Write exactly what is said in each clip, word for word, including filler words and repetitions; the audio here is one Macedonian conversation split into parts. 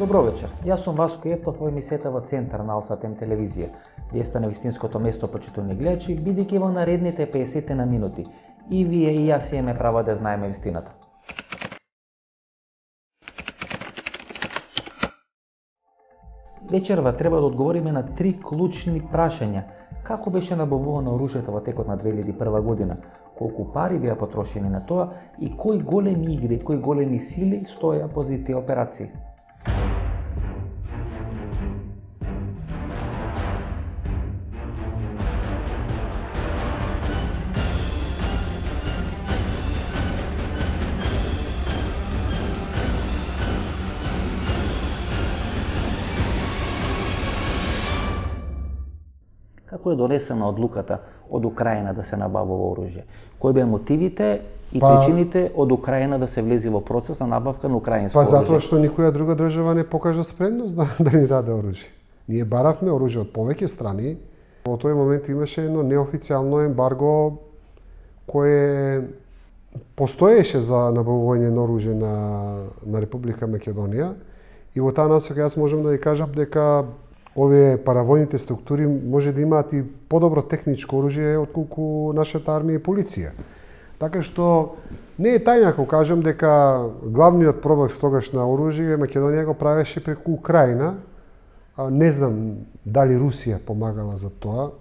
Добро вечер, јас сум Васко Ефтов во емисијата во Центар на Алсатем телевизија. Вие сте на вистинското место, почитувани гледачи, бидејќи во наредните песет на минути и вие и јас имаме право да знаеме вистината. Вечерва треба да одговориме на три клучни прашања. Како беше набавувано оружјето во текот на две илјади и прва година? Колку пари беа потрошени на тоа и кои големи игри, кои големи сили стоја позади тие операции? Како е донесена одлуката од Украина да се набавува оружје? Кои беа мотивите и па, причините од Украина да се влезе во процес на набавка на украинско па, оружје? Па затоа што никоја друга држава не покажа спремност да, да ни даде оружје. Ние баравме оружје од повеќе страни. Во тој момент имаше едно неофицијално ембарго кое постоеше за набавување на оружје на, на Република Македонија. И во таа насока јас можам да ви кажам дека овие паравојните структури може да имаат и подобро техничко оружје отколку нашата армија и полиција. Така што не е тајна ако кажам дека главниот пробив тогаш на оружје Македонија го правеше преку Украина. Не знам дали Русија помагала за тоа.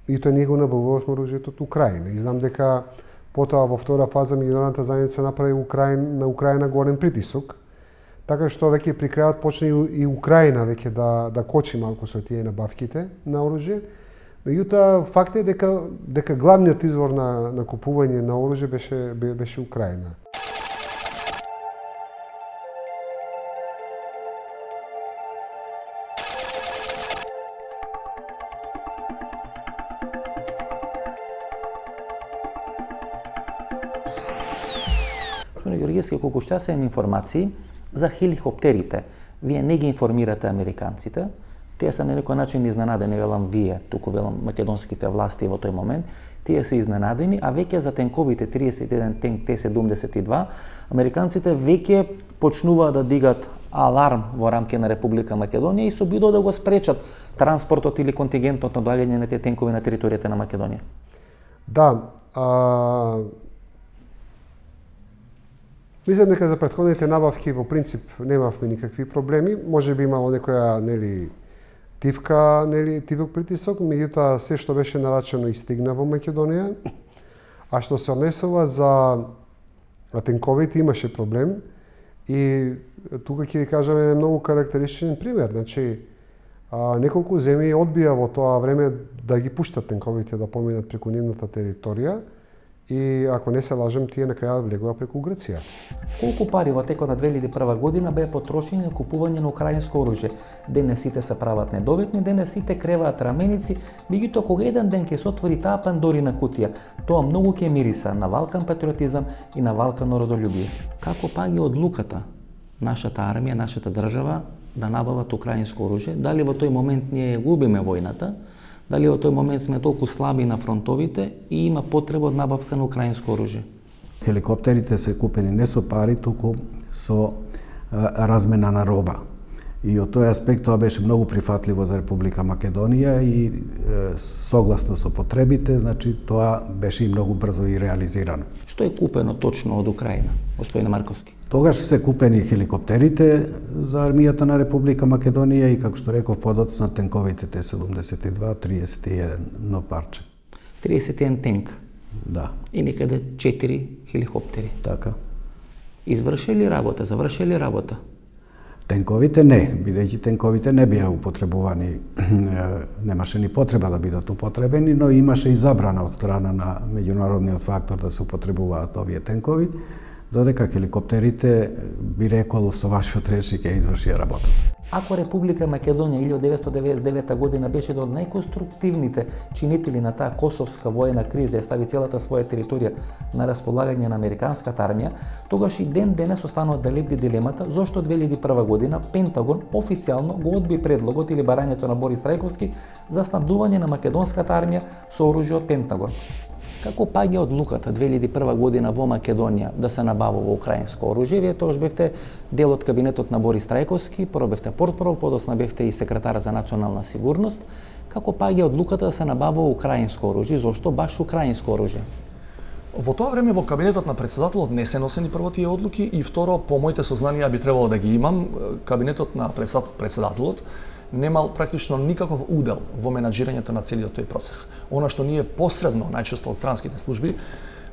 И тоа ние го набавувавме оружјето од Украина. И знам дека потоа во втора фаза меѓународната заедница направи Украина, на Украина голем притисок. Така што веќе при крајот почна и Украина веќе да да кочи малку со тие набавките на оружје. Меѓутоа факт е дека дека главниот извор на на купување на оружје беше беше Украина. Господине Георгиевски, колку што јас имам информации за хеликоптерите, вие не ги информирате американците, тие се на некој начин изненадени, велам вие, туку велам македонските власти во тој момент, тие се изненадени, а веќе за тенковите триесет и еден тенк Т седумдесет и два, американците веќе почнуваат да дигат аларм во рамки на Република Македонија и се обидуваат да го спречат транспортот или контингентот на доаѓање на тие тенкови на територијата на Македонија. Да, а... Мислам дека за претходните набавки во принцип немавме никакви проблеми. Може би имало некоја нели тивка, нели тивок притисок, меѓутоа се што беше нарачено и стигна во Македонија. А што се однесува за тенковите имаше проблем и тука ќе ви кажам еден многу карактеристичен пример. Значи неколку земји одбија во тоа време да ги пуштат тенковите да поминат преку нивната територија. И ако не се лажам, тие на крајот влегува преку Грција. Колку пари во текот на две илјади и прва година беа потрошени на купување на украинско оружје? Денес сите се прават недоветни, денес сите креваат раменици, меѓутоа кога еден ден ќе се отвори таа Пандорина кутија, тоа многу ќе мириса на валкан патриотизам и на валкан народолюбие. Како паѓа одлуката нашата армија, нашата држава да набават украинско оружје? Дали во тој момент ние губиме војната? Дали во тој момент сме толку слаби на фронтовите и има потреба од набавка на украинско оружје? Хеликоптерите се купени не со пари, туку со а, размена на роба. И од тој аспект тоа беше многу прифатливо за Република Македонија и е, согласно со потребите, значи тоа беше и многу брзо и реализирано. Што е купено точно од Украина, господине Марковски? Тогаш се купени хеликоптерите за армијата на Република Македонија и, како што реков, подоцна тенковите Т седумдесет и два, триесет и едно парче. триесет и еден тенк? Да. И некаде четири хеликоптери? Така. Извршили работа, завршили работа? Тенковите не, бидејќи тенковите не беа употребувани, немаше ни потреба да бидат употребени, но имаше и забрана од страна на меѓународниот фактор да се употребуваат овие тенкови, додека хеликоптерите, би рекол, со вашиот речи ќе извршија работа. Ако Република Македонија илјадесет деветстотини деветдесет и девета година беше од најконструктивните чинители на таа косовска воена криза и стави целата своја територија на располагање на американската армија, тогаш и ден денес останува да лебди дилемата зошто две илјади и прва година Пентагон официјално го одби предлогот или барањето на Борис Трајковски за снабдување на македонската армија со оружје од Пентагон. Како паѓа одлуката две илјади и прва година во Македонија да се набавува украинско оружје? Вие тогаш бевте дел од кабинетот на Борис Трајковски, прво бевте портпарол, подосна бевте и секретар за национална сигурност. Како паѓа одлуката да се набавува украинско оружје? Зошто баш украинско оружје? Во тоа време во кабинетот на председателот не се носени прво тие одлуки и второ, по моите сознанија би требало да ги имам, кабинетот на председателот немал практично никаков удел во менаџирањето на целиот тој процес. Она што ние посредно, најчесто од странските служби,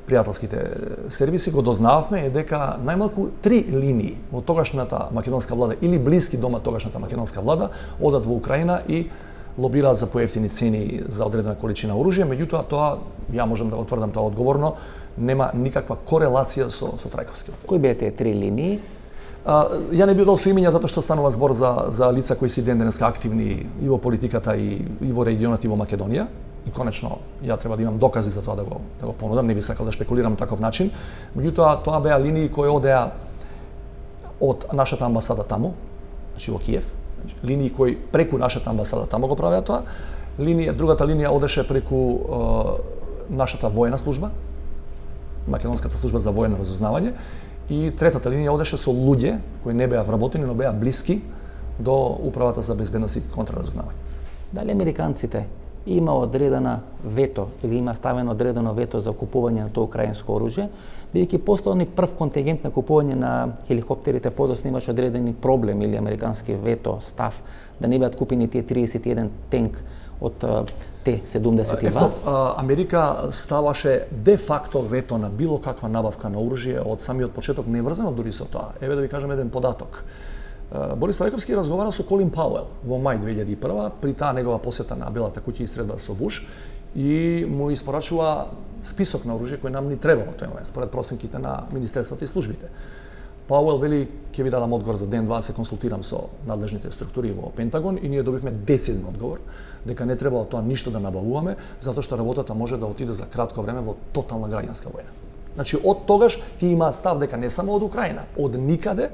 пријателските сервиси, го дознававме е дека најмалку три линии во тогашната македонска влада или блиски дома тогашната македонска влада одат во Украина и лобираат за поевтини цени за одредена количина оружје, меѓутоа тоа, ја можам да го тврдам тоа одговорно, нема никаква корелација со, со Трајковски. Кои беа тие три линии? А, ја не би дал со имиња затоа што станува збор за, за лица кои се ден денеска активни и во политиката и, и во регионот и во Македонија. И конечно, ја треба да имам докази за тоа да го, да го понудам, не би сакал да шпекулирам таков начин. Меѓутоа, тоа беа линии кои одеа од нашата амбасада таму, значи во Киев, значи, линии кои преку нашата амбасада таму го правеа тоа. Линија, другата линија одеше преку е, нашата воена служба, Македонската служба за воено разузнавање, и третата линија одеше со луѓе кои не беа вработени, но беа блиски до Управата за безбедност и контраразузнавање. Дали американците има одредена вето или има ставено одредено вето за купување на тоа украинско оружје, бидејќи постал ни прв контингент на купување на хеликоптерите, подоцна имаше одредени проблем или американски вето, став, да не бидат купени тие триесет и еден тенк од Т седумдесет и два. Ефтов, Америка ставаше де факто вето на било каква набавка на оружје од самиот почеток, не врзано дури со тоа. Еве да ви кажам еден податок. Борис Трајковски разговара со Колин Пауел во мај две илјади и прва при таа негова посета на Белата куќа и средба со Буш и му испорачува список на оружје кој нам ни треба во тој момент според проценките на министерствата и службите. Пауел вели ќе ви дадам одговор за ден-два, се консултирам со надлежните структури во Пентагон и ние добивме десетен одговор дека не треба тоа ништо да набавуваме затоа што работата може да отиде за кратко време во тотална граѓанска војна. Значи од тогаш ти има став дека не само од Украина, од никаде.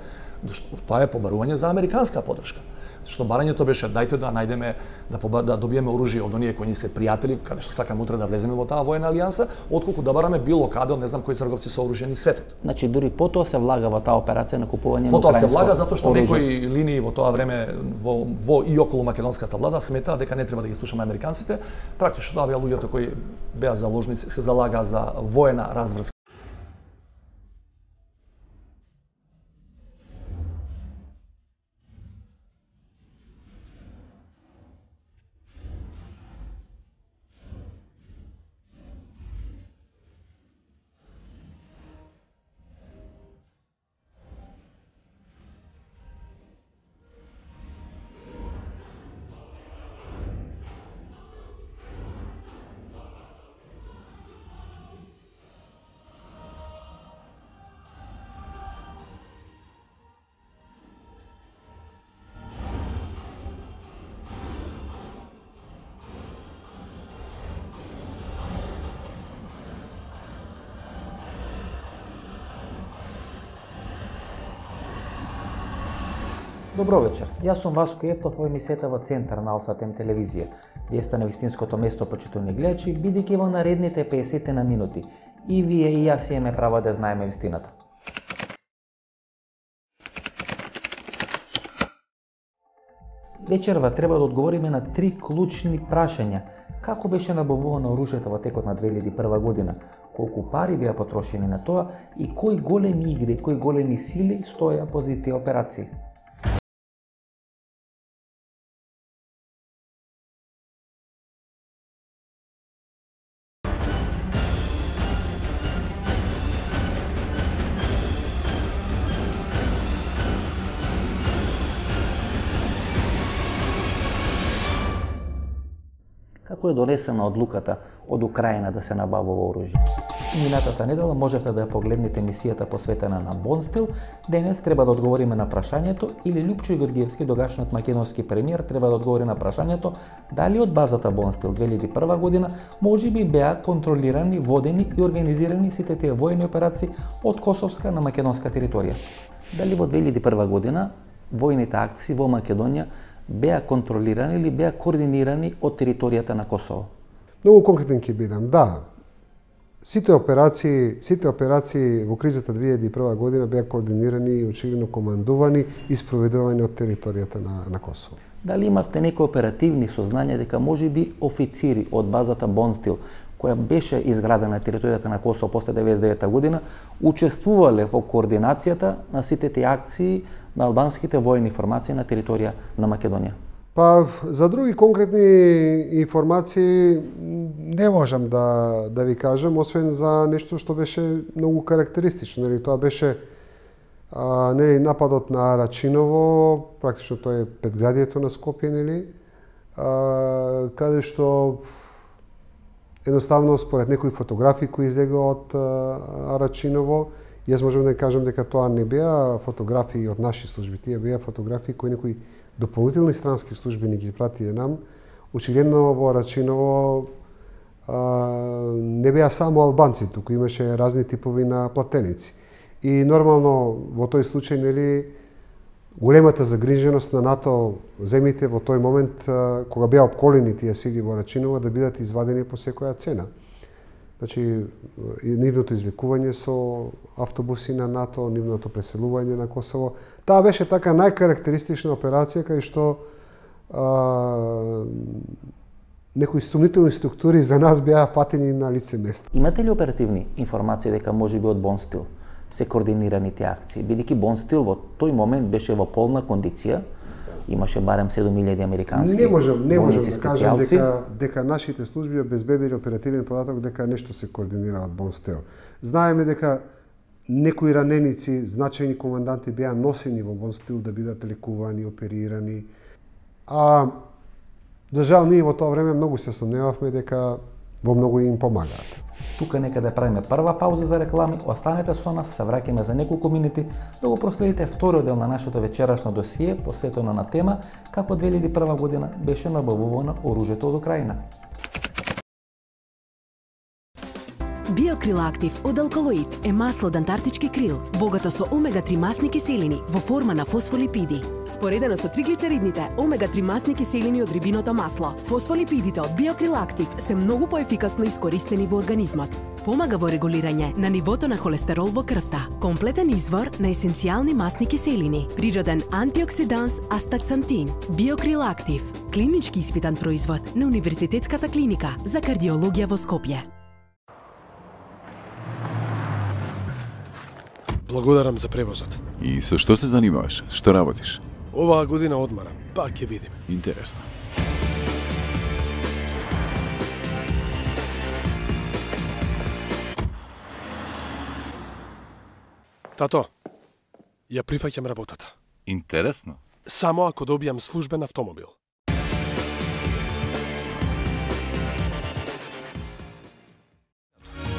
Тоа е побарување за американска поддршка. Што барањето беше дајте да најдеме да, поба, да добиеме оружје од оние кои ни се пријатели, каде што сакаме утре да влеземе во таа воена алијанса, отколку да бараме било каде од не знам кои трговци со оружје ни светот. Значи дури потоа се влага во таа операција на купување потоа на украинско оружје. Потоа се влага затоа што некои линии во тоа време во, во и околу македонската влада сметаа дека не треба да ги слушаме американците. Практично тоа беа луѓето кои беа заложници, се залага за воена разврска. Добро вечер. Јас сум Васко Ефтов во емисијата во Центар на Алсатем телевизија. Вие сте на вистинското место, почитувани гледачи, бидејќи во наредните песет на минути и вие и јас имаме право да знаеме вистината. Вечерва треба да одговориме на три клучни прашања. Како беше набавувано оружјето во текот на две илјади и прва година? Колку пари беа потрошени на тоа и кои големи игри, кои големи сили стоја позади тие операции? Како е донесена одлуката од Украина да се набавува оружје? Минатата недела можевте да ја погледнете емисијата посветена на Бонстил. Денес треба да одговориме на прашањето или Лјупчо Георгиевски, тогашниот македонски премиер, треба да одговори на прашањето дали од базата Бонстил две илјади и прва година можеби беа контролирани, водени и организирани сите тие воени операции од косовска на македонска територија. Дали во две илјади и прва година војните акции во Македонија беа контролирани или беа координирани од територијата на Косово? Многу конкретен ќе бидам. Да, Сите операции, сите операции во кризата две илјади и прва година беа координирани и очигледно командувани и спроведувани од територијата на, на Косово. Дали имавте некои оперативни сознања дека можеби официри од базата Бонстил, која беше изградена на територијата на Косово после деветдесет и девета година, учествувале во координацијата на сите тие акции на албанските воени формации на територија на Македонија? Па, за други конкретни информации не можам да, да ви кажам, освен за нешто што беше многу карактеристично. Нели, тоа беше а, нели, нападот на Рачиново, практично тоа е предградието на Скопје, нели, а, каде што едноставно според некои фотографии кои излега од Рачиново, јас можам да кажам дека тоа не беа фотографии од наши служби, тие беа фотографии кои некои дополнителни странски служби ни ги пратија нам. Очигледно во Рачиново а, не беа само албанци, туку имаше разни типови на платеници. И нормално во тој случај, нели, големата загриженост на НАТО земите во тој момент а, кога беа обколени тие сили во Рачиново да бидат извадени по секоја цена. Значи, нивното извлекување со автобуси на НАТО, нивното преселување на Косово. Таа беше така најкарактеристична операција кај што а, некои сумнителни структури за нас беа фатени на лице место. Имате ли оперативни информации дека можеби од Бонстил се координирани тие акции? Бидејќи Бонстил во тој момент беше во полна кондиција, имаше барем седум илјади американски Не можам, не можам да кажам специјалци. дека, дека нашите служби обезбедили оперативен податок дека нешто се координира од Бонстил. Знаеме дека некои раненици, значајни команданти беа носени во Бонстил да бидат лекувани, оперирани. А за жал ние во тоа време многу се сомневавме дека во многу им помагаат. Тука нека да правиме прва пауза за реклами, останете со нас, се враќаме за неколку минути да го проследите вториот дел на нашето вечерашно досие посветено на тема како две илјади и прва година беше набавувано оружјето од Украина. Биокрил Актив од Алкалоид е масло од антарктички крил, богато со омега три масни киселини во форма на фосфолипиди. Споредено со триглицеридните, омега три масни киселини од рибиното масло, фосфолипидите од Биокрил Актив се многу поефикасно искористени во организмот. Помага во регулирање на нивото на холестерол во крвта, комплетен извор на есенцијални масни киселини, природен антиоксиданс астаксантин. Биокрил Актив, клинички испитан производ на Универзитетската клиника за кардиологија во Скопје. Благодарам за превозот. И со што се занимаваш? Што работиш? Оваа година одмарам, па ќе видиме. Интересно. Тато, ја прифаќам работата. Интересно. Само ако добијам службен автомобил.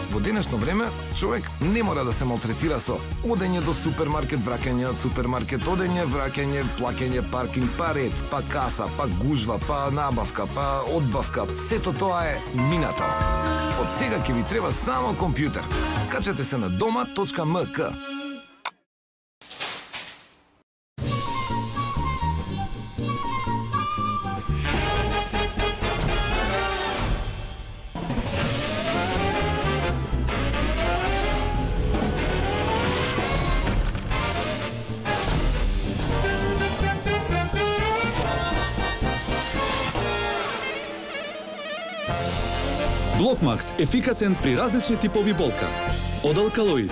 Во денешно време, човек не мора да се малтретира со одење до супермаркет, враќање од супермаркет, одење, враќање, плаќање паркинг, па ред, па каса, па гужва, па набавка, па одбавка. Сето тоа е минато. Од сега ќе ви треба само компјутер. Качете се на дома точка ем ка. Блокмакс – ефикасен при различни типови болка. Од Алкалоид.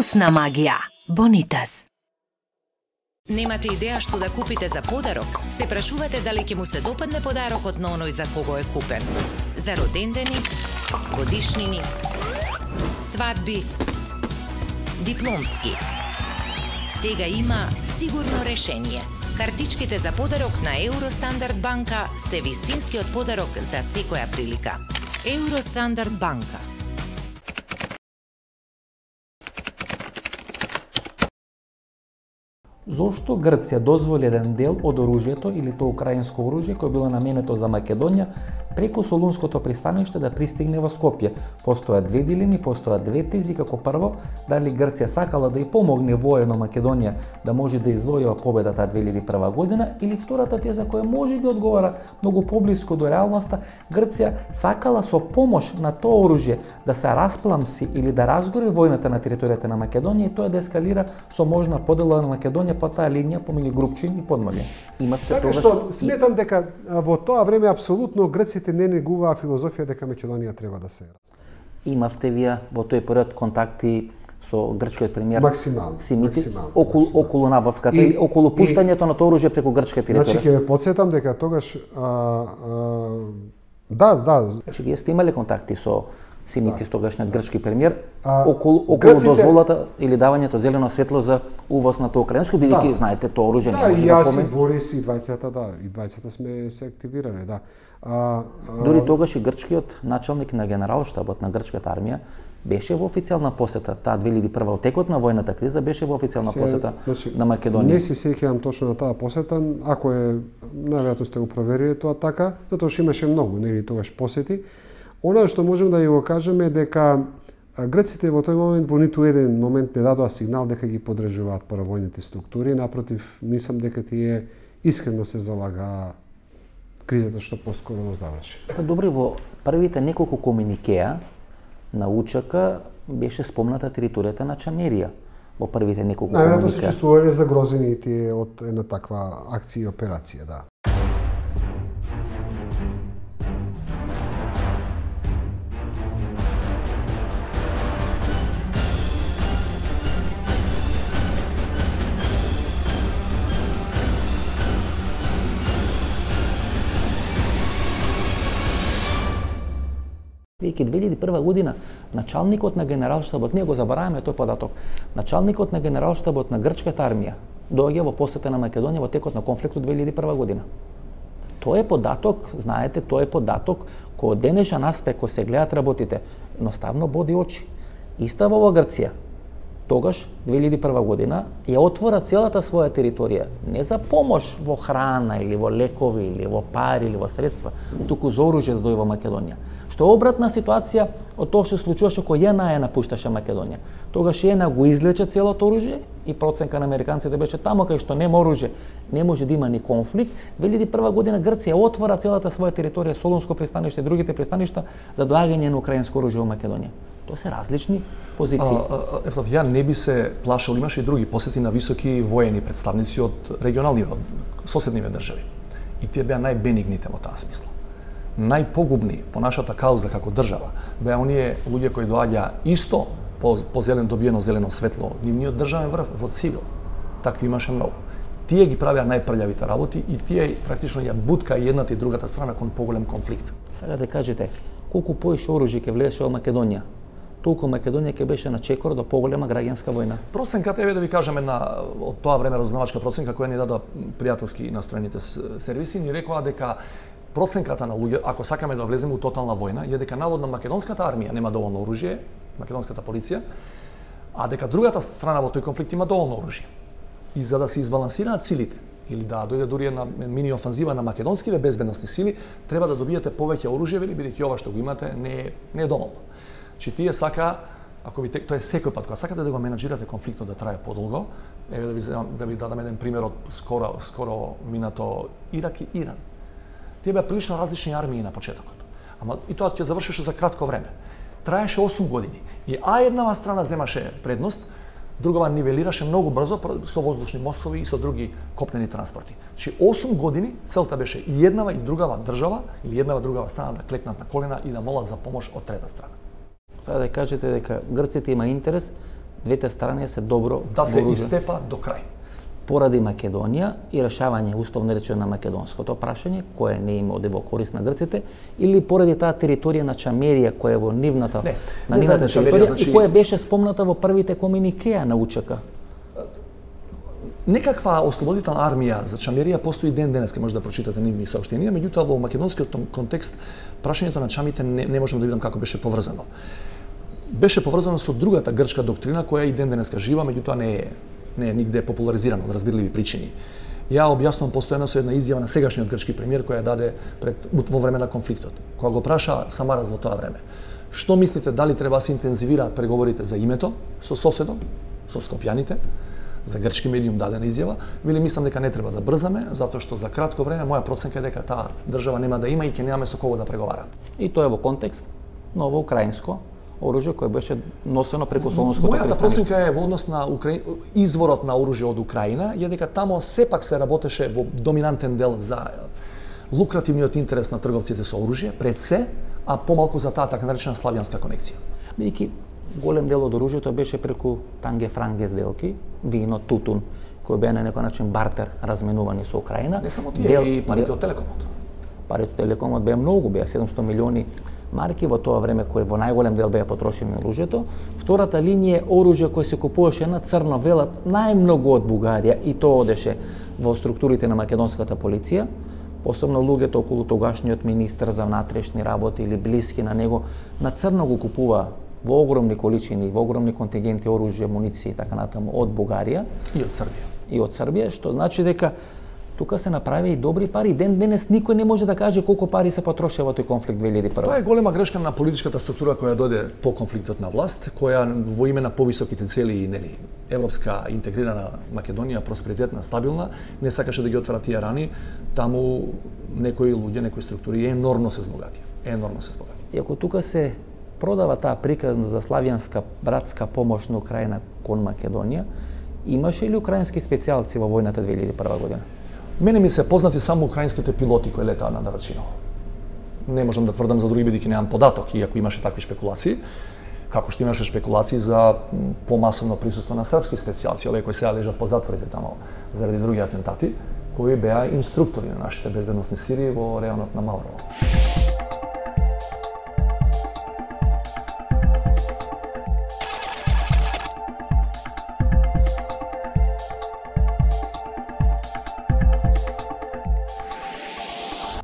Вкусна магија. Бонитас. Немате идеја што да купите за подарок? Се прашувате дали ќе му се допадне подарокот на оној за кого е купен? За родендени, годишнини, свадби, дипломски. Сега има сигурно решение. Картичките за подарок на Евростандард банка се вистинскиот подарок за секоја прилика. Евростандард банка. Зошто Грција дозволи еден дел од оружјето или тоа украинско оружје кој било наменето за Македонија преку Солунското пристаниште да пристигне во Скопје? Постојат две дилеми, постојат две тези. Како прво, дали Грција сакала да ја помогне воено Македонија да може да извојува победата две илјади и прва година, или втората теза која може би одговара многу поблиску до реалноста, Грција сакала со помош на тоа оружје да се распламси или да разгори војната на територијата на Македонија и тоа да ескалира со можна подела на Македонија по таа линија помеѓу Групчин и Подморје. Имавте така тогаш... што сметам дека во тоа време апсолутно грците не негуваа филозофија дека Македонија треба да се Имавте вие во тој период контакти со грчкиот премиер максимално, Симити максимално, околу максимално. околу набавката и, или околу пуштањето на тоа оружје преку грчка територија. Значи ќе ве потсетам дека тогаш а, а, да, да. Значи вие сте имале контакти со Симитис, да. Тогашниот грчки премиер, а, околу, околу грците... дозволата или давањето зелено светло за увоз на тоа украинско, бидејќи да. Знаете тоа оружје да, не може да да поме. Да, и јас и Борис и двајцата, да, и двајцата сме се активирале, да. А, а... Дури тогаш и грчкиот началник на генералштабот на грчката армија беше во официјална посета, таа две илјади и прва текот на војната криза беше во официјална се, посета значи, на Македонија. Не се сеќавам точно на таа посета, ако е најверојатно сте го провериле тоа така, затоа што имаше многу, нели тогаш посети. Она што можеме да ја го кажеме е дека грците во тој момент во ниту еден момент не дадоа сигнал дека ги подржуваат паравојните структури, напротив, мислам дека тие искрено се залагаа кризата што поскоро да заврши. Па добре, во првите неколку комуникеа на УЧК беше спомната територијата на Чамерија во првите неколку комуникеа. Најверојатно се чувствувале загрозени и тие од една таква акција и операција, да. Веќе две илјади и прва година началникот на генералштабот, ние го забораваме тој податок, началникот на генералштабот на грчката армија доаѓа во посета на Македонија во текот на конфликтот две илјади и прва година. Тоа е податок, знаете, тоа е податок кој од денешен аспект кој се гледат работите, едноставно боди очи. Истава во Грција, тогаш две илјади и прва година ја отвора целата своја територија не за помош во храна или во лекови или во пари или во средства, туку за оружје да дојде во Македонија. Што е обратна ситуација од тоа што се случуваше кога ЈНА ја напушташе Македонија. Тогаш ЈНА го извлече целото оружје и проценка на американците беше таму кај што нема оружје, не може да има ни конфликт. две илјади и прва година Грција отвора целата своја територија, Солунско пристаниште и другите пристаништа за доаѓање на украинско оружје во Македонија. Тоа се различни позиции. Ефтов, ја не би се плашал, имаше и други посети на високи воени представници од регионални, од соседниве држави. И тие беа најбенигните во таа смисла. Најпогубни по нашата кауза како држава беа оние луѓе кои доаѓа исто по, по зелен добиено зелено светло, нивниот државен врв во цивил. Такви имаше многу. Тие ги правеа најпрљавите работи и тие практично ја бутка и едната и другата страна кон поголем конфликт. Сега да кажете, колку поише оружје ќе влезеше во Македонија, толку Македонија ќе беше на чекор до поголема граѓанска војна. Проценката еве да ви кажеме на од тоа време разузнавачка проценка која ни дадоа пријателски настроените сервиси, ни рекоа дека проценката на луѓе, ако сакаме да влеземе у тотална војна, е дека наводно македонската армија нема доволно оружје, македонската полиција, а дека другата страна во тој конфликт има доволно оружје. И за да се избалансираат силите, или да дојде дури една мини офанзива на македонските безбедносни сили, треба да добиете повеќе оружје, бидејќи ова што го имате не е, не е доволно. Чи тие сака, ако ви тоа е секој пат кога сакате да го менаџирате конфликтот да трае подолго, еве да ви да ви дадам еден пример од скоро скоро минато Ирак и Иран. Тие беа прилично различни армии на почетокот. Ама и тоа ќе завршеше за кратко време. Траеше осум години. И а еднава страна земаше предност, другава нивелираше многу брзо со воздушни мостови и со други копнени транспорти. Значи осум години целта беше и еднава и другава држава или еднава другава страна да клекнат на колена и да молат за помош од трета страна. Сега да кажете дека грците има интерес двете страни се добро да се вооружени. истепа до крај. Поради Македонија и решавање условно речено на македонското прашање, кое не има оде во корист на грците, или поради таа територија на Чамерија која е во нивната не, на не нивната Чамерија, територија значи... и која беше спомната во првите комуникеа на УЧК. Некаква ослободителна армија за Чамерија постои ден денеска, може да прочитате нивни саопштенија, меѓутоа во македонскиот контекст прашањето на чамите не, не можам да видам како беше поврзано. Беше поврзано со другата грчка доктрина која и ден денеска жива, меѓутоа не е не е нигде популаризирано од разбирливи причини. Ја објаснувам постојано со една изјава на сегашниот грчки премиер која даде пред во време на конфликтот. Кога го праша Самарас во тоа време, што мислите дали треба да се интензивираат преговорите за името со соседот, со скопјаните? За грчки медиум дадена изјава, вели мислам дека не треба да брзаме, затоа што за кратко време моја проценка е дека таа држава нема да има и ќе немаме со кого да преговара. И тоа е во контекст ново украинско оружје кое беше носено преку Солунското пристаниште. Мојата проценка е во однос на Укра... изворот на оружје од Украина, е дека тамо сепак се работеше во доминантен дел за лукративниот интерес на трговците со оружје, пред се, а помалку за таа така наречена славјанска конекција. Бидејќи голем дел од оружјето беше преку танге-франге сделки, вино, тутун, кои беа на некој начин бартер разменувани со Украина. Не само тие, и парите од Телекомот. Парите од Телекомот беа многу, беа седумсто милиони марки во тоа време кој во најголем дел беа потрошени на оружјето. Втората линија е оружје кој се купуваше на црно, велат најмногу од Бугарија и тоа одеше во структурите на македонската полиција. Посебно луѓето околу тогашниот министер за внатрешни работи или блиски на него на црно го купува во огромни количини, во огромни контингенти оружје, муниции и така натаму од Бугарија и од Србија. И од Србија, што значи дека тука се направи и добри пари. Ден денес никој не може да каже колку пари се потрошија во тој конфликт две илјади и прва. Тоа е голема грешка на политичката структура која дојде по конфликтот на власт, која во име на повисоките цели и нели европска интегрирана Македонија, просперитетна, стабилна, не сакаше да ги отвара тие рани, таму некои луѓе, некои структури енормно се збогатија. Енормно се збогатија. И ако тука се продава таа приказна за славјанска братска помош на Украина кон Македонија, имаше ли украински специјалци во војната две илјади и прва година? Мене ми се познати само украинските пилоти кои летаа на Дарачино. Не можам да тврдам за други бидејќи немам податок, иако имаше такви шпекулации, како што имаше шпекулации за помасовно присуство на српски специјалци, овие кои сега лежат по затворите тамо заради други атентати, кои беа инструктори на нашите безбедносни сили во районот на Маврово.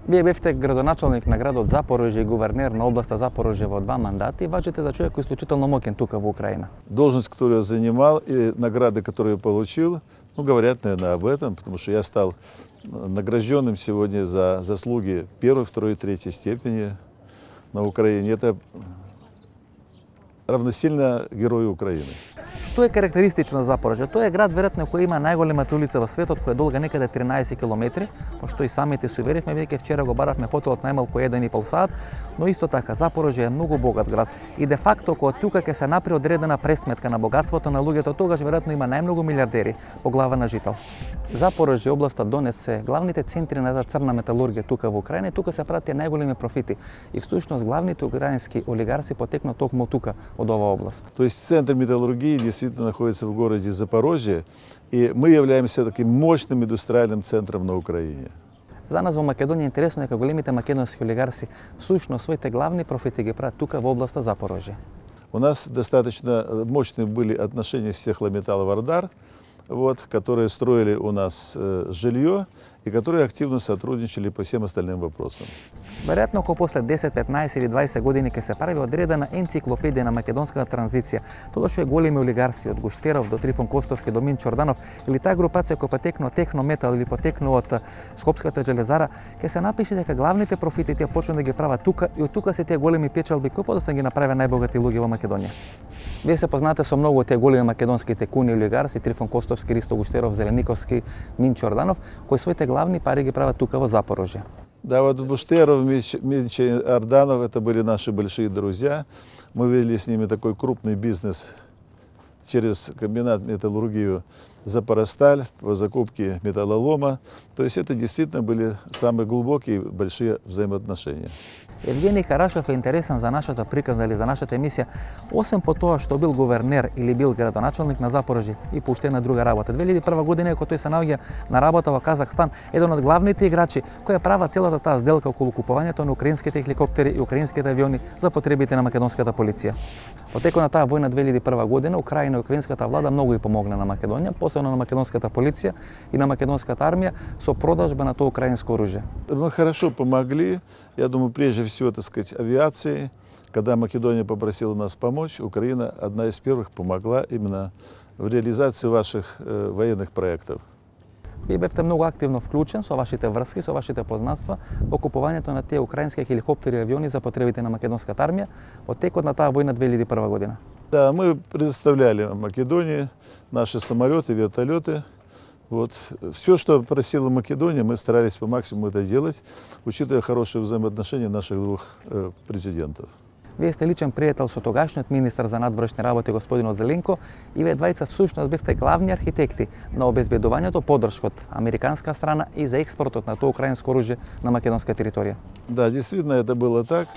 Вие бевте градоначалник на градот Запорожје и гувернер на областа Запорожје во два мандати и важите за човек кој е исклучително моќен тука во Украина. Должность, которую я занимал, и награды, которые я получил, ну, говорят, наверное, об этом, потому что я стал награжденным сегодня за заслуги первой, второй, третьей степени на Украине. Это равносильно герою Украины. Што е карактеристично за Запорожје? Тоа е град веројатно кој има најголемата улица во светот, која е долга некаде тринаесет километри, пошто и самите се уверивме, бидејќи вчера го баравме хотелот најмалку еден и пол сат, но исто така Запорожје е многу богат град и де факто кога тука ќе се направи одредена пресметка на богатството на луѓето, тогаш веројатно има најмногу милиардери по глава на жител. Запорожје областа донесе главните центри на таа црна металургија тука во Украина и тука се прават најголеми профити. И всушност главните украински олигарси потекнаа токму тука од оваа област. То есть центр металлургии действительно находится в городе Запорожье, и мы являемся таким мощным индустриальным центром на Украине. За нас во Македонија е интересно дека големите македонски олигарси всушност своите главни профити ги прават тука во областа Запорожје. У нас достаточно мощные были отношения с Техлометалл-Вардар, вот, которые строили у нас э, жилье и которые активно сотрудничали по всем остальным вопросам. Веројатно ако после десет, петнаесет или дваесет години ќе се прави одредена енциклопедија на македонската транзиција, тогаш е големи олигарси од Гуштеров до Трифон Костовски до Мин Чорданов или таа групација која потекнува од Технометал или потекнува од Скопската железара, ќе се напише дека главните профити тие почнаа да ги прават тука и од тука се тие големи печалби кои подоцна ги направи најбогати луѓе во Македонија. Вие се познате со многу од тие големи македонски текуни и олигарси, Трифон Костовски, Ристо Гуштеров, Зелениковски, Мин Чорданов, кои своите главни пари ги прават тука во Запорожје. Да, вот Гуштеров, Мич и Арданов, это были наши большие друзья. Мы вели с ними такой крупный бизнес через комбинат металлургию Запоросталь, по закупке металлолома. То есть это действительно были самые глубокие и большие взаимоотношения. Евгений Карашов е интересен за нашата приказна или за нашата емисија, освен по тоа што бил гувернер или бил градоначалник на Запорожје и поштена друга работа. две илјади и прва година, кога тој се наоѓа на работа во Казахстан, еден од главните играчи која права целата таа сделка околу купувањето на украинските хеликоптери и украинските авиони за потребите на македонската полиција. Во текот на таа војна две илјади и прва година, Украина и украинската влада многу и помогна на Македонија, посебно на македонската полиција и на македонската армија со продажба на тоа украинско оружје. Мы хорошо помогли, я думаю, прежде всего, так сказать, авиации. Когда Македония попросила нас помочь, Украина одна из первых помогла именно в реализации ваших э, военных проектов. Вие бевте многу активно вклучен со вашите врски, со вашите познанства во купувањето на тие украински хеликоптери и авиони за потребите на македонската армија во текот на таа војна две илјади и прва година. Да, мы предоставляли Македонии наши самолеты, вертолеты. Вот. Все, что просила Македония, мы старались по максимуму это делать, учитывая хорошие взаимоотношения наших двух э, президентов. Вие сте личен пријател со тогашниот министар за надворешни работи господин Зеленко и вие двајца всушност бевте главни архитекти на обезбедувањето поддршка од американска страна и за експортот на тоа украинско оружје на македонска територија. Да, действительно это было так.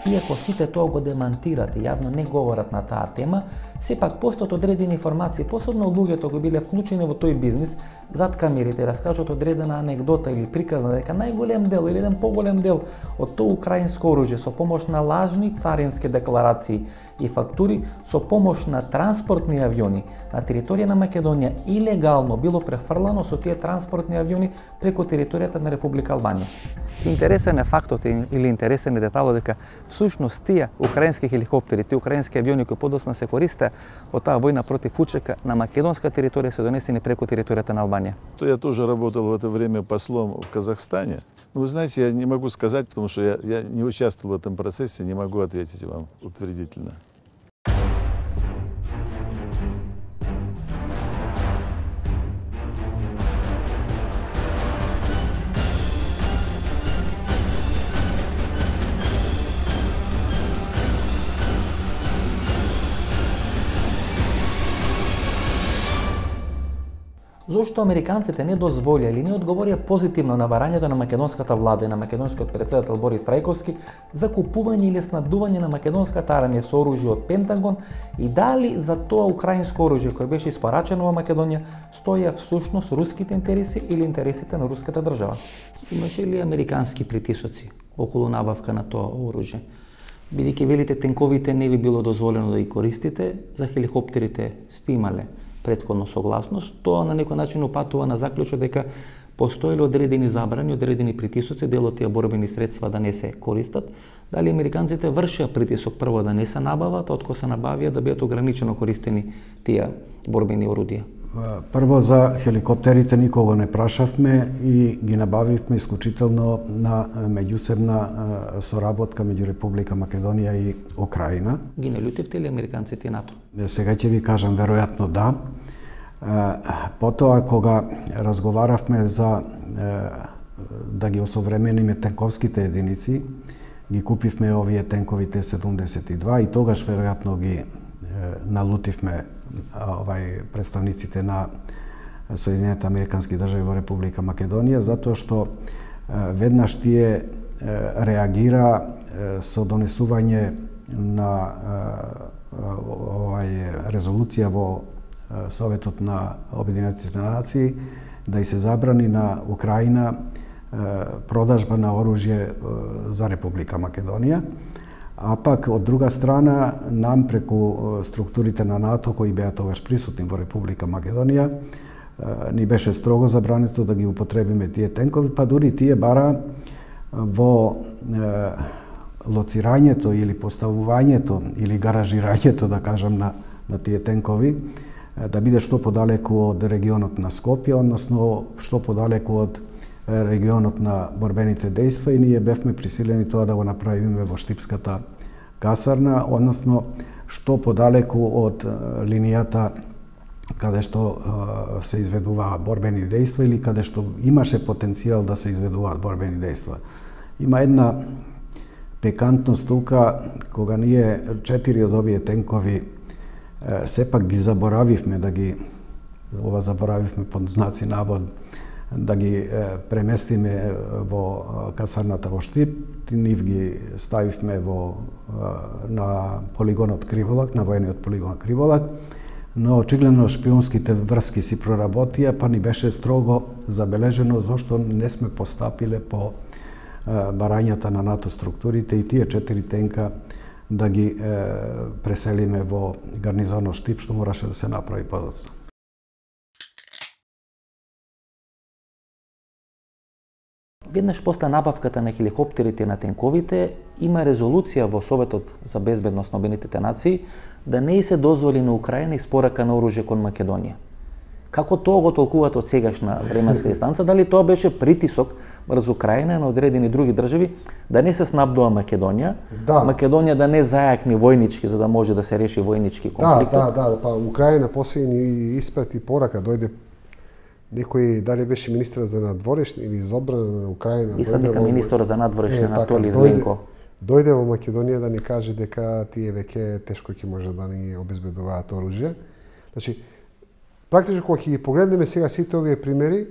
Иако сите тоа го демантират и јавно не говорат на таа тема, сепак постојат одредени информации, посебно од луѓето кои биле вклучени во тој бизнис, зад камерите раскажат одредена анегдота или приказна дека најголем дел или еден поголем дел од тоа украинско оружје со помош на лажни царински декларации и фактури, со помош на транспортни авиони на територија на Македонија илегално било префрлано со тие транспортни авиони преку територијата на Република Албанија. Интересен е фактот или интересен е деталот дека всушност тие украински хеликоптери, тие украински авиони кои подоцна се користеа во таа војна против УЧК на македонска територија се донесени преку територијата на Албанија. Я тоже работал в это время послом в Казахстане. Но вы знаете, я не могу сказать, потому что я, я не участвовал в этом процессе, не могу ответить вам утвердительно. Зошто американците не дозволија или не одговорија позитивно на барањето на македонската влада и на македонскиот претседател Борис Трајковски за купување или снабдување на македонската армија со оружје од Пентагон и дали за тоа украинско оружје кое беше испорачено во Македонија стоја всушност руските интереси или интересите на руската држава? Имаше ли американски притисоци околу набавка на тоа оружје? Бидејќи велите тенковите не би било дозволено да ги користите, за хеликоптерите сте имале претходно согласност, тоа на некој начин упатува на заклучок дека постоеле одредени забрани, одредени притисоци, дел од тие борбени средства да не се користат. Дали американците вршеа притисок прво да не се набават, откако се набавија да бидат ограничено користени тие борбени орудија? Прво за хеликоптерите никого не прашавме и ги набавивме исклучително на меѓусебна соработка меѓу Република Македонија и Украина. Ги не лютивте ли американците и НАТО? Сега ќе ви кажам веројатно да. Потоа кога разговаравме за да ги осовремениме тенковските единици, ги купивме овие тенкови Т седумдесет и два и тогаш веројатно ги налутивме овај представниците на Соединените американски држави во Република Македонија, затоа што веднаш тие реагира со донесување на овај резолуција во Советот на Обединетите нации да и се забрани на Украина продажба на оружје за Република Македонија. А пак, од друга страна, нам преку структурите на НАТО, кои беа тогаш присутни во Република Македонија, ни беше строго забрането да ги употребиме тие тенкови, па дури тие бара во е, лоцирањето или поставувањето или гаражирањето, да кажам, на, на тие тенкови, да биде што подалеку од регионот на Скопје, односно што подалеку од регионот на борбените дејства и ние бевме присилени тоа да го направиме во Штипската касарна, односно што подалеку од линијата каде што се изведуваат борбени дејства или каде што имаше потенцијал да се изведуваат борбени дејства. Има една Пикантност тука, кога ние четири од овие тенкови сепак ги заборавивме да ги, ова заборавивме под знаци навод, да ги преместиме во касарната во Штип, нив ги ставивме во на полигонот Криволак, на воениот полигон Криволак, но очигледно шпионските врски си проработија, па ни беше строго забележено зошто не сме постапиле по барањата на НАТО структурите и тие четири тенка да ги е, преселиме во гарнизонот Штип, што мораше да се направи подоцна. Веднаш после набавката на хеликоптерите и на тенковите, има резолуција во Советот за безбедност на Обединетите нации да не се дозволи на Украина испорака на оружје кон Македонија. Како тоа го толкувате од сегашна временска дистанца? Дали тоа беше притисок врз Украина на одредени други држави да не се снабдува Македонија, да. Македонија да не зајакни војнички за да може да се реши војнички конфликт? Да, да, да, па Украина после ни испрати порака, дојде некој, дали беше министер за надворешни или за одбрана на Украина. Мислам дека министер за надворешни Анатолий Зленко. Дојде во Македонија да ни каже дека тие веќе тешко ќе може да ни обезбедуваат оружје. Значи, практично кога ќе ги погледнеме сега сите овие примери,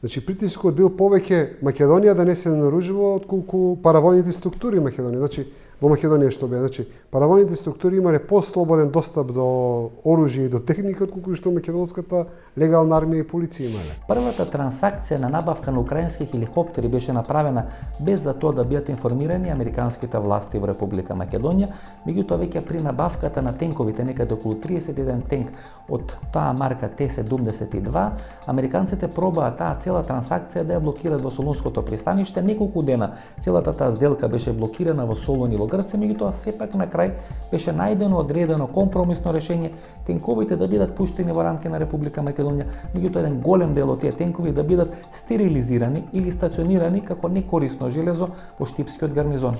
значи притискот бил повеќе Македонија да не се наоружува отколку паравојните структури Македонија. Значи во Македонија што бе, значи паравојните структури имале послободен достап до оружје и до техника отколку што македонската легална армија и полиција имале. Првата трансакција на набавка на украински хеликоптери беше направена без за тоа да бидат информирани американските власти во Република Македонија, меѓутоа веќе при набавката на тенковите, некаде околу триесет и еден тенк од таа марка Т седумдесет и два, американците пробаа таа цела трансакција да ја блокираат во Солунското пристаниште. Неколку дена целата таа сделка беше блокирана во Солун и во Грција, меѓутоа сепак на крај беше најдено одредено компромисно решение тенковите да бидат пуштени во рамки на Република Македонија, меѓутоа еден голем дел од тие тенкови да бидат стерилизирани или стационирани како некорисно железо во Штипскиот гарнизон.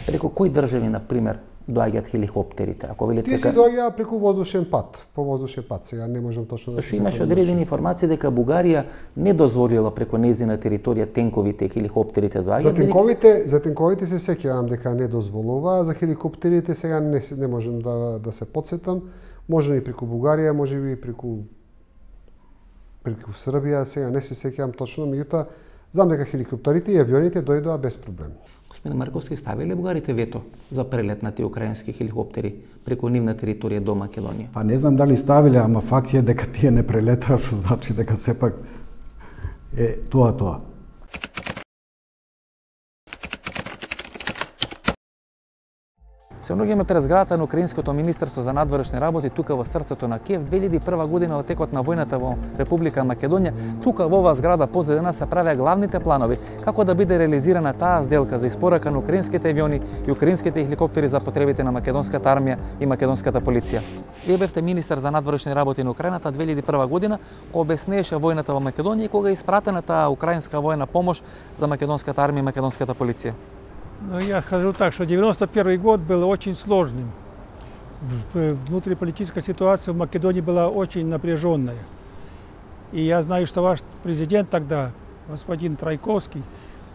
Преку кои држави, на пример, доаѓаат хеликоптерите? Ако велите Тие се доаѓаат преку воздушен пат, по воздушен пат. Сега не можам точно да се сетам. Имаше одредени информации дека Бугарија не дозволила преку нејзина територија тенковите и хеликоптерите доаѓаат. За тенковите, за тенковите се сеќавам дека не дозволува, за хеликоптерите сега не не можам да да се потсетам. Може и преку Бугарија, може би преку преку Србија, сега не се сеќавам точно, меѓутоа знам дека хеликоптерите и авионите дојдоа без проблем. Господин Марковски, ставиле бугарите вето за прелет на тие украински хеликоптери преку нивна територија до Македонија? Па не знам дали ставиле, ама факт е дека тие не прелетаа, што значи дека сепак е тоа тоа. Се наоѓаме пред зградата на Украинското министерство за надворешни работи тука во срцето на Киев. две илјади и прва година во текот на војната во Република Македонија, тука во оваа зграда позади нас се правеа главните планови како да биде реализирана таа сделка за испорака на украинските авиони и украинските хеликоптери за потребите на македонската армија и македонската полиција. Вие бевте министер за надворешни работи на Украината две илјади и прва година, кога обяснеше војната во Македонија и кога е испратена таа украинска војна помош за македонската армија и македонската полиција. Ну, я скажу так, что девяносто первый год был очень сложным. Внутриполитическая ситуация в Македонии была очень напряженная. И я знаю, что ваш президент тогда, господин Трайковский,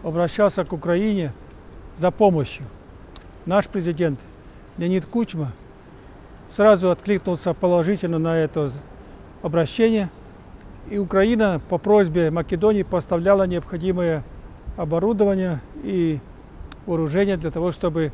обращался к Украине за помощью. Наш президент Леонид Кучма сразу откликнулся положительно на это обращение. И Украина по просьбе Македонии поставляла необходимое оборудование и вооружение для того, чтобы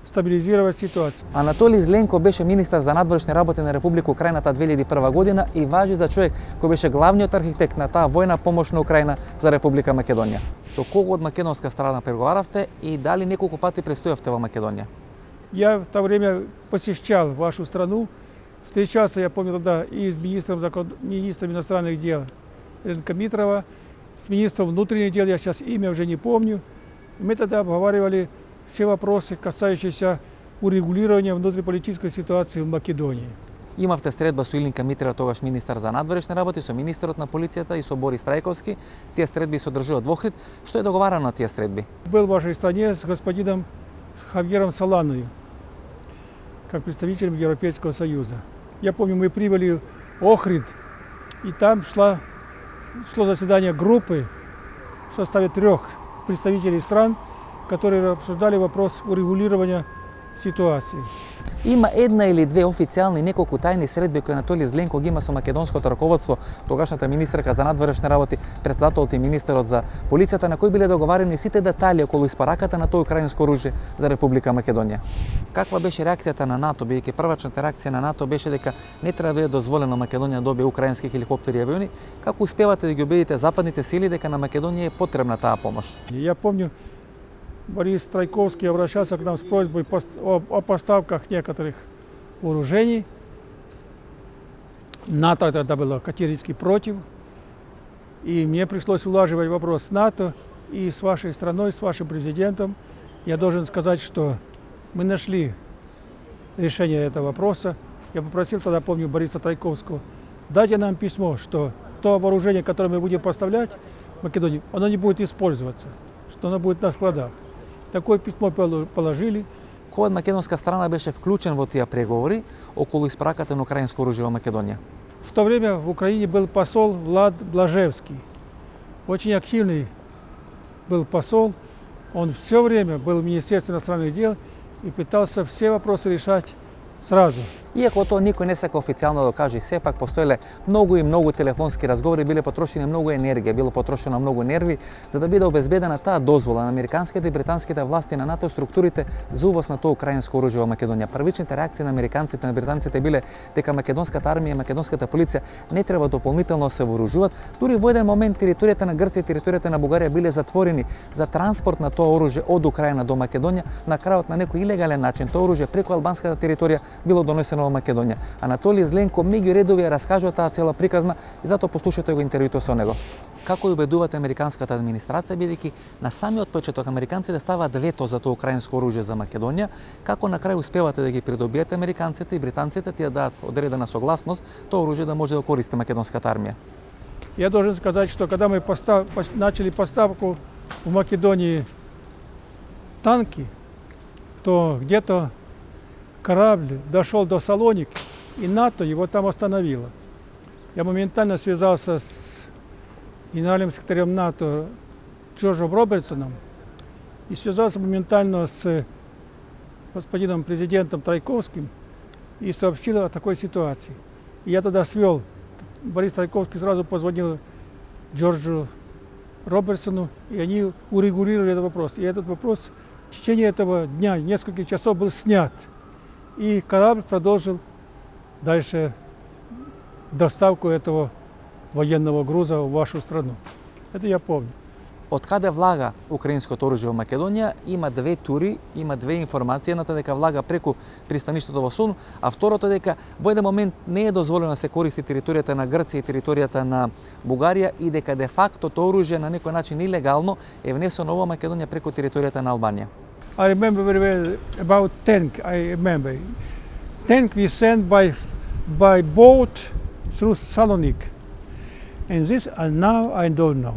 стабилизировать ситуацию. Анатолий Зленко беше министар за надворешни работи на Република Украината две илјади и прва година и важи за човек кој беше главниот архитект на таа војна помош на Украина за Република Македонија. Со кого од македонска страна преговаравте и дали неколку пати престојавте во Македонија? Я в то время посещал вашу страну, встречался, я помню тогда, и с министром, министром иностранных дел Ленко Митрова, с министром внутренних дел, я сейчас имя уже не помню. Мы тогда обговаривали все вопросы, касающиеся урегулирования внутриполитической ситуации в Македонии. Имавте средба со Илинка Митрова, тогаш министар за надворешни работи, со министерот на полицијата и со Борис Трајковски. Тие средби се одржуваа во Охрид. Што е договарано на тие средби? Был в вашей стране с господином Хавьером Соланой, как представителем Европейского Союза. Я помню, мы прибыли в Охрид, и там шла, шло заседание группы в составе трех представителей стран, которые обсуждали вопрос урегулирования ситуации. Има една или две официјални неколку тајни средби кои Анатолиј Зленко ги има со македонското раководство, тогашната министерка за надворешни работи, претседателот и министерот за полицијата, на кои биле договарани сите детали околу испараката на тоа украинско оружје за Република Македонија. Каква беше реакцијата на НАТО, бидејќи првачната реакција на НАТО беше дека не треба да биде дозволено Македонија да добие украински хеликоптери и авиони? Како успевате да ги убедите западните сили дека на Македонија е потребна таа помош? Я помню, Борис Трайковский обращался к нам с просьбой о поставках некоторых вооружений. НАТО тогда было категорически против. И мне пришлось улаживать вопрос с НАТО и с вашей страной, с вашим президентом. Я должен сказать, что мы нашли решение этого вопроса. Я попросил тогда, помню, Бориса Трайковского, дайте нам письмо, что то вооружение, которое мы будем поставлять в Македонию, оно не будет использоваться, что оно будет на складах. Такое писмо положили. Кој од македонска страна беше вклучен во тие преговори околу испраката на украинско оружје во Македонија? В то время в Украине был посол Влад Блажевский. Очень активный был посол. Он все время был в Министерстве иностранных дел и пытался все вопросы решать сразу. Иако тоа никој не сака официјално да каже, сепак постоеле многу и многу телефонски разговори, биле потрошени многу енергија, било потрошено многу нерви за да биде обезбедена таа дозвола на американските и британските власти на НАТО структурите за увоз на тоа украинско оружје во Македонија. Првичните реакции на американците и на британците биле дека македонската армија и македонската полиција не треба дополнително да се вооружуваат. Дури во еден момент територијата на Грција и територијата на Бугарија биле затворени за транспорт на тоа оружје од Украина до Македонија. На крајот на некој илегален начин тоа оружје преку албанската територија било донесено во Македонија. Анатолиј Зленко меѓу редови ја раскажува таа цела приказна и затоа послушате го интервјуто со него. Како убедувате американската администрација, бидејќи на самиот почеток американците ставаат вето за тоа украинско оружје за Македонија, како на крај успевате да ги придобиете американците и британците тие дадат одредена согласност тоа оружје да може да користи македонската армија? Я должен сказать, что когда мы постав... начали поставку в Македонии танки, то где-то корабль дошел до Салоники, и НАТО его там остановило. Я моментально связался с генеральным секретарем НАТО Джорджем Робертсоном и связался моментально с господином президентом Трайковским и сообщил о такой ситуации. И я тогда свел, Борис Трайковский сразу позвонил Джорджу Робертсону, и они урегулировали этот вопрос. И этот вопрос в течение этого дня, нескольких часов, был снят. И корабль продолжил дальше доставку этого военного груза в вашу страну. Это я помню. Од каде влага украинското оружје во Македонија, има две тури, има две информации. Едната дека влага преку пристаништето во Солун, а второто дека во еден момент не е дозволено да се користи територијата на Грција и територијата на Бугарија и дека де факто тоа оружје на некој начин илегално е внесено во Македонија преку територијата на Албанија. I remember very well about tank. I remember tank we sent by by boat through Salonique, and this and now I don't know.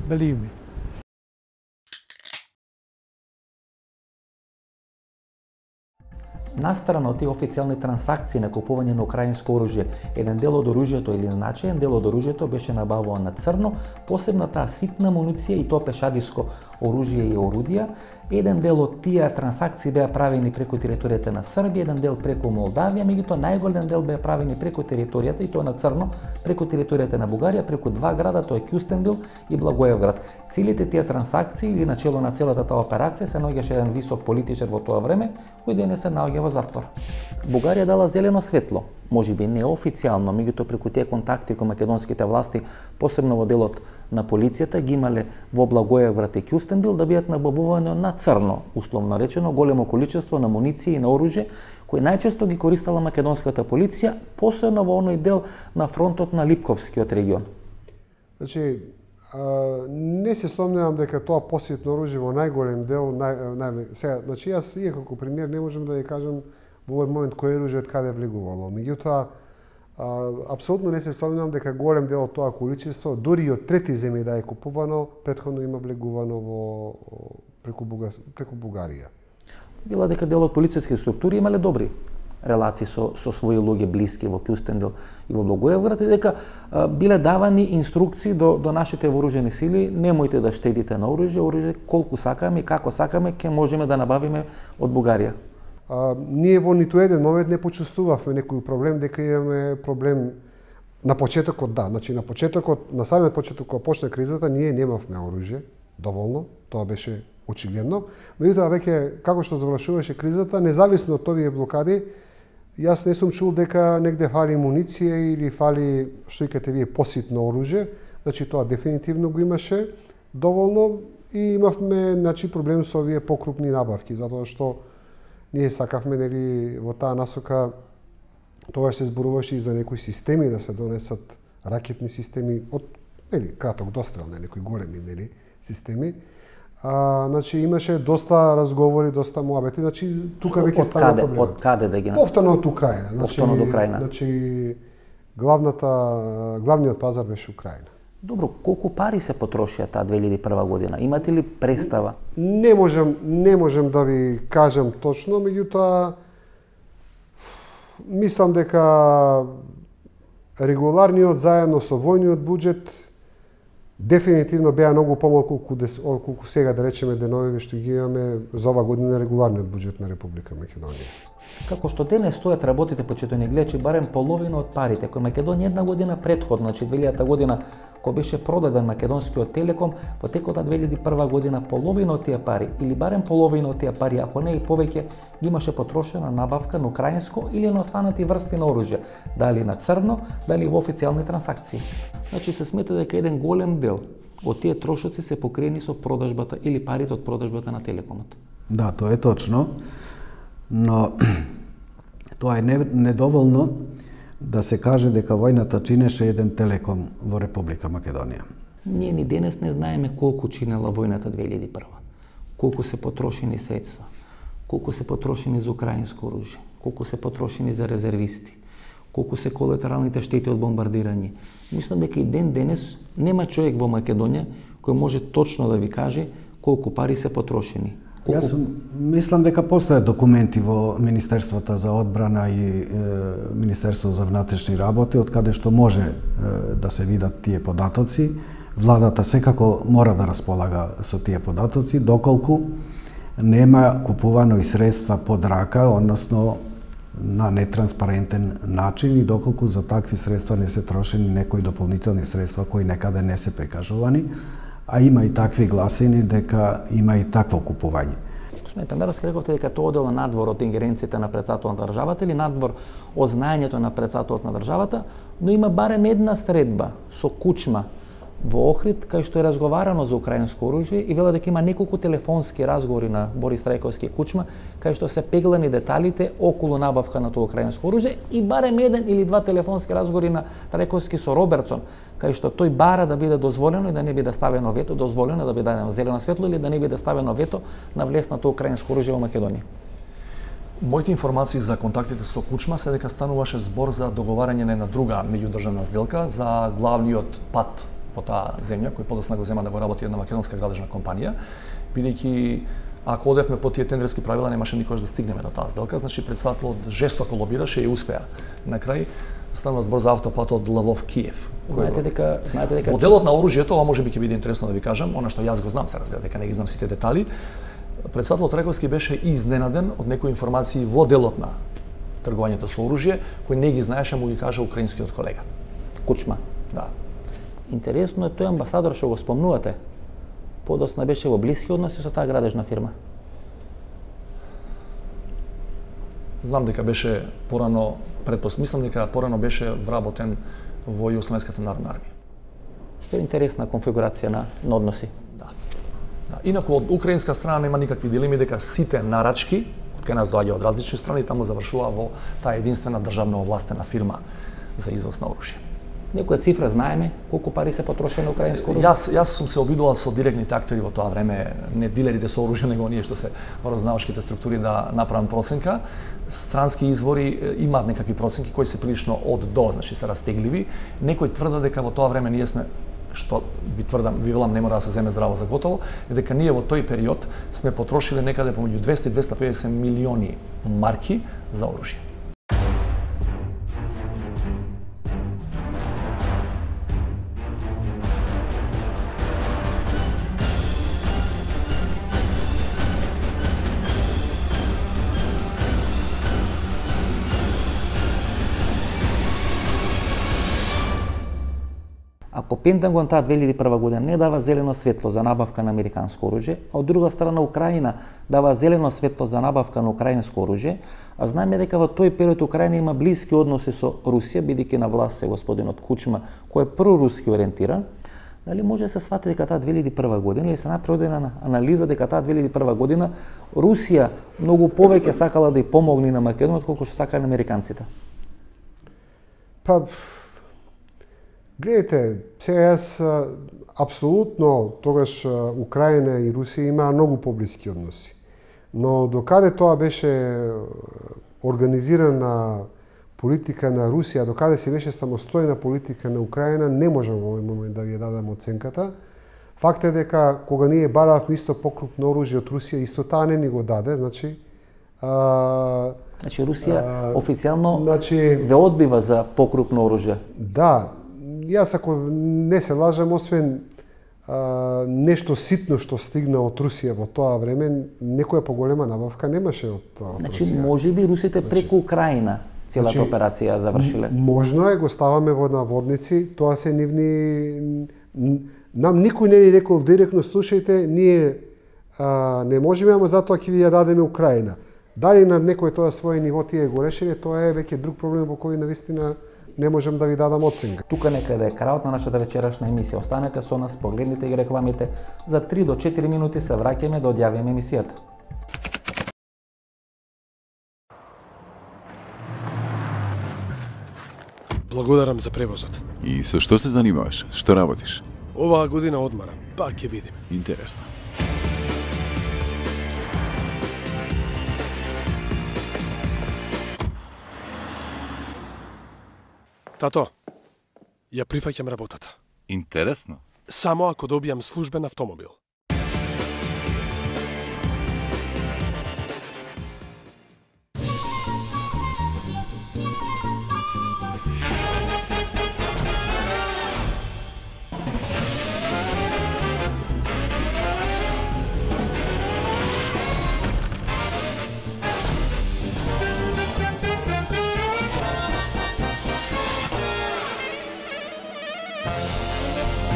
Believe me. Настрана од тие официјални трансакции на купување на украинско оружје, еден дел од оружјето или значаен дел од оружјето беше набавуван на црно, посебно таа ситна муниција и тоа пешадиско оружје и орудија. Еден дел од тие трансакции беа правени преку територијата на Србија, еден дел преку Молдавија, меѓутоа најголем дел беа правени преку територијата и тоа на црно, преку територијата на Бугарија, преку два града, тоа е Кюстендил и Благоевград. Целите тие трансакции или начело на целата таа операција се наоѓаше еден висок политичар во тоа време, кој денес се наоѓа во затвор. Бугарија дала зелено светло, можеби не официјално, меѓутоа преку тие контакти кои македонските власти, посебно во делот на полицијата, ги имале во Благоевград и Кюстендил да бидат набавувани на црно, условно речено, големо количество на муниции и на оружје, кои најчесто ги користела македонската полиција, посебно во оној дел на фронтот на Липковскиот регион. Значи, а, не се сомневам дека тоа посетно оружје во најголем дел, нај, нај, сега, значи јас и како премиер не можам да ја кажам во овој момент кој оружје од каде влегувало. Меѓутоа, апсолутно не се сомневам дека голем дел од тоа количество, дури и од трети земји да е купувано, претходно има влегувано во преку, Бугар, преку Бугарија. Била дека дел од полициски структури имале добри релации со, со своји луѓе блиски во Кюстендел и во Благоевград, и дека а, биле давани инструкции до, до нашите вооружени сили: немојте да штедите на оружје, оружје колку сакаме и како сакаме ќе можеме да набавиме од Бугарија. А, ние во ниту еден момент не почувствувавме некој проблем дека имаме проблем. На почетокот да, значи на почетокот, на самиот почеток кога почна кризата, ние немавме оружје доволно, тоа беше очигледно. Меѓутоа веќе како што завршуваше кризата, независно од овие блокади, јас не сум чул дека негде фали муниција или фали, што викате вие, поситно оружје. Значи тоа дефинитивно го имаше доволно и имавме, значи, проблем со овие покрупни набавки, затоа што ние сакавме, нели, во таа насока. Тоа се зборуваше и за некои системи да се донесат ракетни системи од, нели, краток дострел, не некои големи, нели, системи. А, значи имаше доста разговори, доста муабети, значи тука веќе стана проблем. Од каде да ги Повторно од Украина. Значи, Повторно од Украина. Значи главната главниот пазар беше Украина. Добро, колку пари се потрошија таа две илјади и прва година? Имате ли представа? Не можам, не можам да ви кажам точно, меѓутоа мислам дека регуларниот заедно со војниот буџет дефинитивно беа многу помалку колку сега, да речеме, деновиве што ги имаме за ова година регуларниот буџет на Република Македонија. Како што денес стојат работите почитувани гледачи, барем половина од парите кои Македонија една година претходно, значи две илјадата година, кога беше продаден македонскиот Телеком, во текот на две илјади и прва година половина од тие пари, или барем половина од тие пари, ако не и повеќе, ги имаше потрошена набавка на украинско или на останати врсти на оружје, дали на црно, дали во официјални трансакции. Значи се смета дека еден голем дел од тие трошоци се покриени со продажбата или парите од продажбата на Телекомот. Да, тоа е точно, но тоа е недоволно да се каже дека војната чинеше еден Телеком во Република Македонија. Ние ни денес не знаеме колку чинела војната две илјади и прва, колку се потрошени средства, колку се потрошени за украинско оружје, колку се потрошени за резервисти, колку се колатералните штети од бомбардирање. Мислам дека и ден денес нема човек во Македонија кој може точно да ви каже колку пари се потрошени. Колку... Јас мислам дека постојат документи во Министерството за одбрана и е, Министерството за внатрешни работи, од каде што може е, да се видат тие податоци. Владата секако мора да располага со тие податоци, доколку нема купувано и средства под рака, односно на нетранспарентен начин, и доколку за такви средства не се трошени некои дополнителни средства кои некаде не се прикажувани, а има и такви гласини дека има и такво купување. Господин премиер, рековте дека тоа одел надвор од ингеренциите на претседателот на државата или надвор од знаењето на претседателот на државата, но има барем една средба со Кучма во Охрид, кај што е разговарано за украинско оружје и вела дека има неколку телефонски разговори на Борис Трајковски и Кучма, кај што се пеглани деталите околу набавка на тоа украинско оружје, и барем еден или два телефонски разговори на Трајковски со Робертсон, кај што тој бара да биде дозволено и да не биде ставено вето, дозволено да биде дадено зелено светло или да не биде ставено вето на влез на тоа украинско оружје во Македонија. Моите информации за контактите со Кучма се дека стануваше збор за договарање на една друга меѓудржавна сделка за главниот пат по таа земја, кој подосна го зема да го работи една македонска градежна компанија, бидејќи ако одевме по тие тендерски правила немаше никогаш да стигнеме до таа сделка, значи претседателот жестоко лобираше и успеа. На крај станува збор за автопат од Лвов Киев. Знаете дека, знаете дека во делот на оружјето, ова можеби ќе биде интересно да ви кажам, она што јас го знам, се разбира, дека не ги знам сите детали. Претседателот Трајковски беше изненаден од некои информации во делот на тргувањето со оружје, кој не ги знаеше, му ги кажа украинскиот колега. Кучма. Да. Интересно е тој амбасадор што го спомнувате. Подосна беше во блиски односи со таа градежна фирма. Знам дека беше порано, предпос, мислам дека порано беше вработен во Југословенската народна армија. Што е интересна конфигурација на, на односи. Да. Да. Инаку од украинска страна нема никакви дилеми дека сите нарачки од кај нас доаѓа од различни страни таму завршува во таа единствена државно овластена фирма за извоз на оружје. Некоја цифра знаеме колку пари се потрошени на украинско оружје? Јас јас сум се обидувал со директните актери во тоа време, не дилерите со оружје, него ние што се во разузнавачките структури да направам проценка. Странски извори имаат некакви проценки кои се прилично од до, значи се растегливи. Некој тврда дека во тоа време ние сме, што ви тврдам, ви велам, не мора да се земе здраво за готово, е дека ние во тој период сме потрошиле некаде помеѓу двесте и двесте и педесет милиони марки за оружје. Ако Пентагон таа две илјади и прва година не дава зелено светло за набавка на американско оружје, а од друга страна Украина дава зелено светло за набавка на украинско оружје, а знаеме дека во тој период Украина има блиски односи со Русија, бидејќи на власт е господинот Кучма, кој е проруски ориентиран, дали може да се свати дека таа две илјади и прва година или се направи една анализа дека таа две илјади и прва година Русија многу повеќе сакала да ја помогне на Македонија отколку што сакале американците? Па, гледайте, сега јас апсолутно тогаш Украина и Русија имаа многу поблиски односи. Но докаде тоа беше организирана политика на Русија, докаде се беше самостојна политика на Украина, не можам во овој момент да ви ја дадам оценката. Факт е дека кога ние баравме исто покрупно оружје од Русија, исто таа не ни го даде, значи а, Значи Русија а, официјално значи, ве одбива за покрупно оружје. Да, јас ако не се лажам, освен а, нешто ситно што стигна од Русија во тоа време, некоја поголема набавка немаше од, од Значи, Русија. може би русите Значи, преку Украина целата значи, операција завршиле. Можно е, го ставаме во наводници, тоа се нивни... Нам никој не ни рекол директно, слушајте, ние а, не можеме, ама затоа ќе ви ја дадеме Украина. Дали на некој тоа свој ниво тие го решиле, тоа е веќе друг проблем во кој навистина не можам да ви дадам оценка. Тука некаде е крајот на нашата вечерашна емисија. Останете со нас, погледнете ги рекламите. За три до четири минути се враќаме да одјавиме емисијата. Благодарам за превозот. И со што се занимаваш? Што работиш? Оваа година одмарам, па ќе видим. Интересно. Тато, ја прифаќам работата. Интересно. Само ако добијам службен автомобил.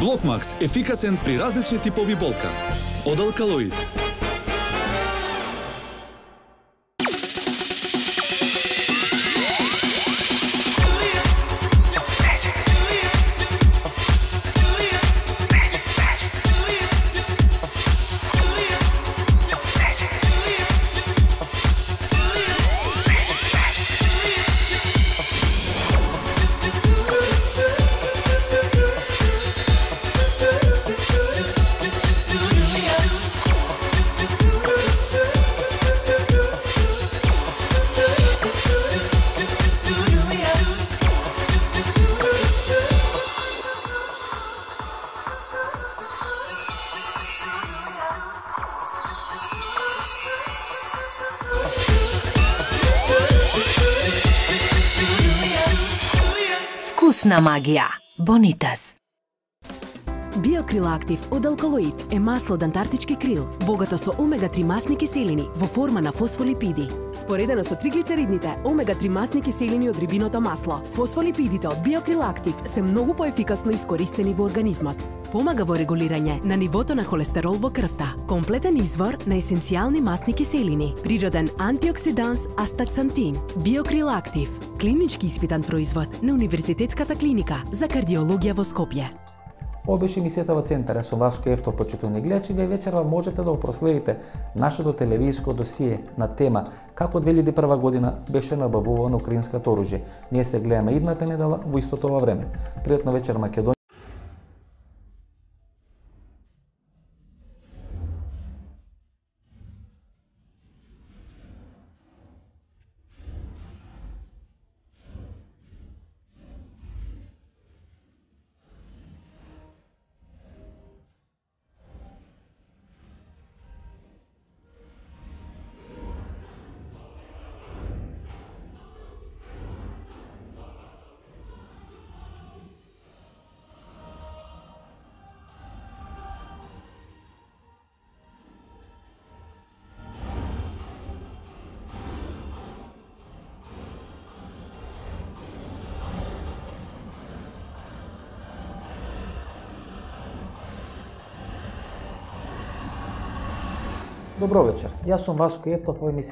Блокмакс ефикасен при различни типови болка. Од Алкалоид. Вкусна магија. Бонитас. Биокрил Актив од Алкалоид е масло од антарктички крил, богато со омега три масни киселини во форма на фосфолипиди. Споредено со триглицеридните омега три масни киселини од рибиното масло, фосфолипидите од Биокрил Актив се многу поефикасно искористени во организмот. Помага во регулирање на нивото на холестерол во крвта. Комплетен извор на есенцијални масни киселини. Природен антиоксиданс астаксантин. Биокрил Актив. Клинички испитан производ на Универзитетската клиника за кардиологија во Скопје. Ова беше емисијата во Центар. Со Васко Ефтов, почитувани гледачи, ве вечерва можете да проследите нашето телевизиско досие на тема како две илјади и прва година беше набавувано украинското оружје. Ние се гледаме идната недела во истото ова време. Пријатна вечер, Македонија. Добро вечер. Јас сум Васко Ефтов, во емисија